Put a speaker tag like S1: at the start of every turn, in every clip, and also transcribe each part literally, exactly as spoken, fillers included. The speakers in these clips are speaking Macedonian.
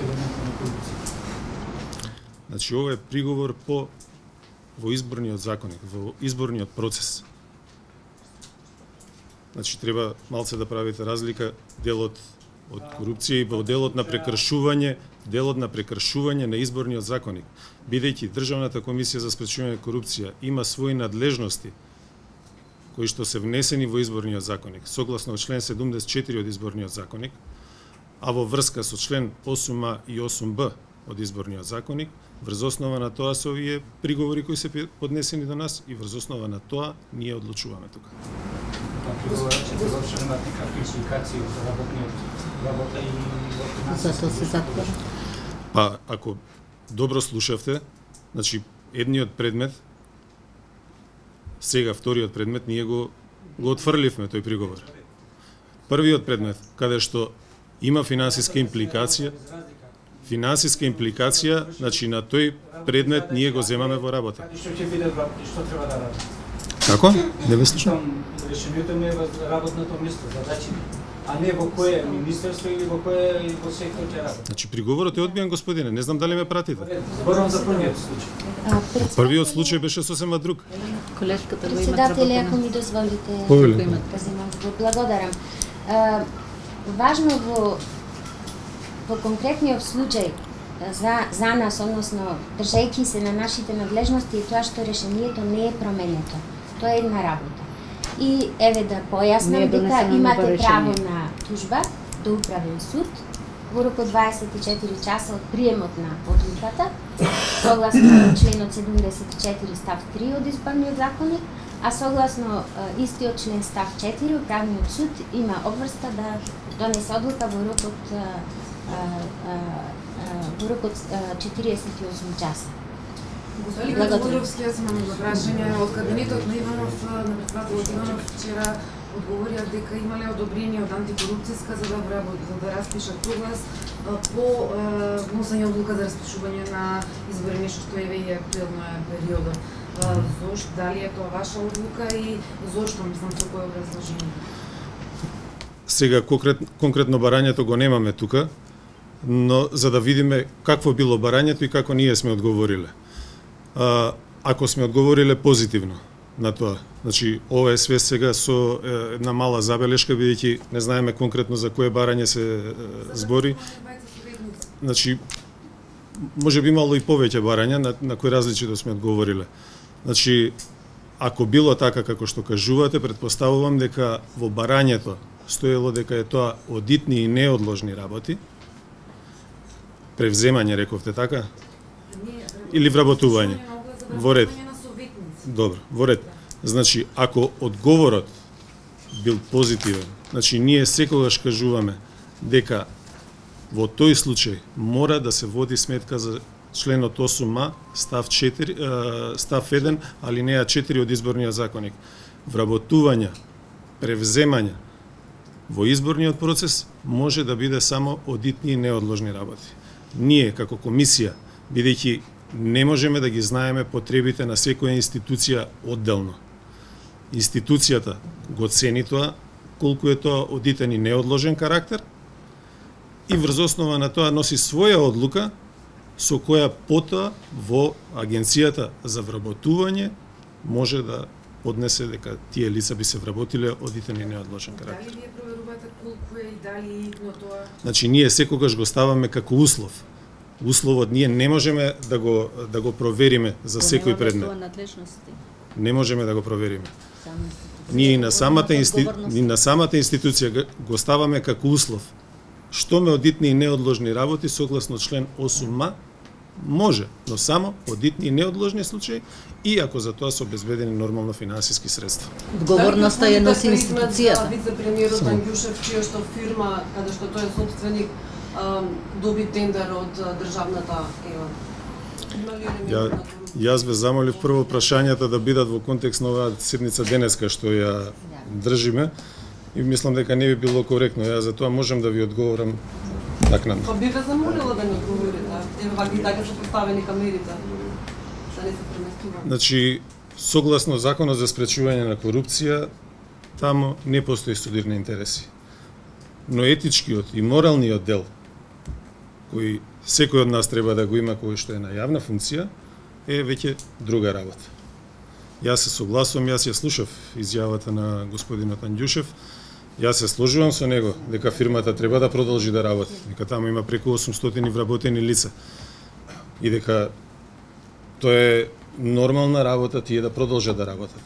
S1: елементот на корупција.
S2: Значи, ова е приговор по во изборниот законник, во изборниот процес. Значи, треба малце да правите разлика делот од корупција и во делот на прекршување, делот на прекршување на изборниот законник. Бидејќи Државната комисија за спречување на корупција има своји надлежности кои што се внесени во изборниот законник, согласно член седумдесет и четири од изборниот законник, а во врска со член осум а и осум б од изборниот законник, врз основа на тоа се овие приговори кои се поднесени до нас и врз основа на тоа ние одлучуваме тука.
S1: Приговорот ќе заврши имат некакви импликации за работниот работа и во
S3: Зато се затвора.
S2: Па, ако добро слушавте, значи, едниот предмет, сега вториот предмет, ние го, го отфрливме тој приговор. Првиот предмет, каде што има финансиска импликација, финансиска импликација, значи на тој предмет ние го земаме во работа.
S1: Што ќе биде што треба да ради?
S2: Како? Не ве слушам.
S1: Решението ми е во работното место, задачи, а не во кое министерство или во кое и во сектор ќе работи.
S2: Значи приговорот е одбиен, господине, не знам дали ме пратите.
S1: Зборам за првиот случај.
S2: Првиот случај беше сосема друг.
S3: Колешката го има
S4: Председатели, ако ми дозволите,
S2: Повели.
S4: да земам, го благодарам. А, важно во во конкретниот случај за за нас, односно држејќи се на нашите надлежности и тоа што решението не е променето. Тоа е една работа. И еве да појаснам дека имате право на тужба до управен суд во рок од дваесет и четири часа од приемот на одлуката, согласно членот седумдесет и четири став три од изборниот законник, а согласно е, истиот член став четири управниот суд има обврска да донесе одлука во рок од е, е, е, во рок од четириесет и осум часа.
S5: Господин Григоровски, јас имам едно прашање од кабинетот на Иванов, на председателот Иванов вчера одговорија дека имале одобрение од антикорупцијска за да за да распишат проглас по вносење одлука за распишување на избори, нешто што еве и актуелно е периодот. Зошто, дали е тоа ваша одлука и зошто, мислам, со кој образложение?
S2: Сега конкретно, конкретно барањето го немаме тука, но за да видиме какво било барањето и како ние сме одговориле. А, ако сме одговориле позитивно на тоа, значи ова е све сега со е, една мала забелешка, бидејќи не знаеме конкретно за кое барање се е, збори. Значи, може би имало и повеќе барања на, на кои различито сме одговориле. Значи, ако било така како што кажувате, предпоставувам дека во барањето стоело дека е тоа одитни и неодложни работи, превземање, рековте така? Или вработување? Во ред. Добро, во ред. Значи, ако одговорот бил позитивен, значи ние секогаш кажуваме дека во тој случај мора да се води сметка за членот осум а, став четири, став еден, алинеја четири од изборниот законник. Вработување, превземање во изборниот процес може да биде само одитни и неодложни работи. Ние, како комисија, бидејќи не можеме да ги знаеме потребите на секоја институција одделно. Институцијата го цени тоа, колку е тоа одитен и неодложен карактер, и врз основа на тоа носи своја одлука, со која потоа во Агенцијата за вработување може да поднесе дека тие лица би се вработиле одитен и неодложен карактер.
S5: Дали вие проверувате колку е и дали но тоа?
S2: Значи ние секогаш го ставаме како услов. Условот ние не можеме да го да го провериме за секој предмет. Не можеме да го провериме. Ние и на самата инсти... и на самата институција го ставаме како услов. Што ме одитни и неодложни работи согласно член осум а може, но само одитни и неодложни случаи и ако за тоа се обезбедени нормално финансиски средства.
S3: Одговорноста е носи институцијата.
S6: Вице-премиерот Ангјушев, чија што фирма, каде што тој е собственик, доби тендер од државната ЕО.
S2: Ја, јас ве замолив прво прашањата да бидат во контекст на оваа седница денеска што ја држиме и мислам дека не би било коректно. Јас за тоа можам да ви одговорам накнадно.
S6: Па би ве замолила да ми одговорите. Еве вака и така се поставени камерите. Да не се преместува.
S2: Значи, согласно Законот за спречување на корупција, таму не постои судирни интереси. Но етичкиот и моралниот дел кој секој од нас треба да го има кој што е на јавна функција, е веќе друга работа. Јас се согласувам, јас ја слушав изјавата на господинот Анѓушев, јас се сложувам со него дека фирмата треба да продолжи да работи, дека таму има преку осумстотини вработени лица и дека тоа е нормална работа тие да продолжат да работат.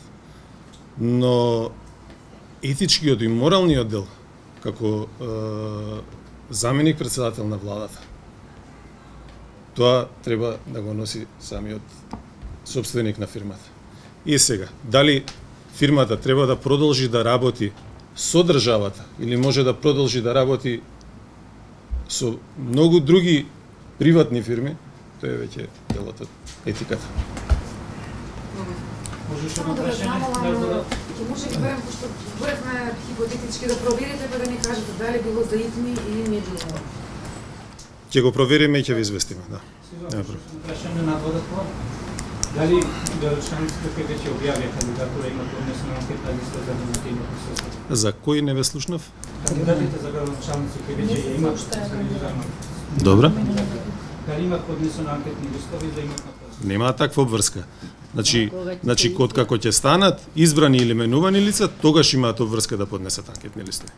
S2: Но етичкиот и моралниот дел како е, заменик председател на владата, тоа треба да го носи самиот собственик на фирмата. И сега, дали фирмата треба да продолжи да работи со државата или може да продолжи да работи со многу други приватни фирми, тоа е веќе делот од етиката.
S1: Можеш
S5: Само
S1: да
S5: да
S1: прашање?
S5: знам, ќе може би барем, пошто зборевме хипотетички да проверите, па да ни кажете дали било за ИТМИ или не било.
S2: Ќе го провериме и ќе ви известиме, да.
S1: Сега, прашање на додатно. Дали Делчанските кои веќе објавија кандидатура има поднесена анкетна листа за нивните присуство?
S2: За кој не ве слушнав?
S1: Кандидатите за градоначалници кои веќе ја имаат организирано.
S2: Добро.
S1: Дали имаат поднесена анкетни листови за имат на посла?
S2: Нема таква обврска. Значи, значи код како ќе станат избрани или менувани лица, тогаш имаат обврска да поднесат анкетни листови.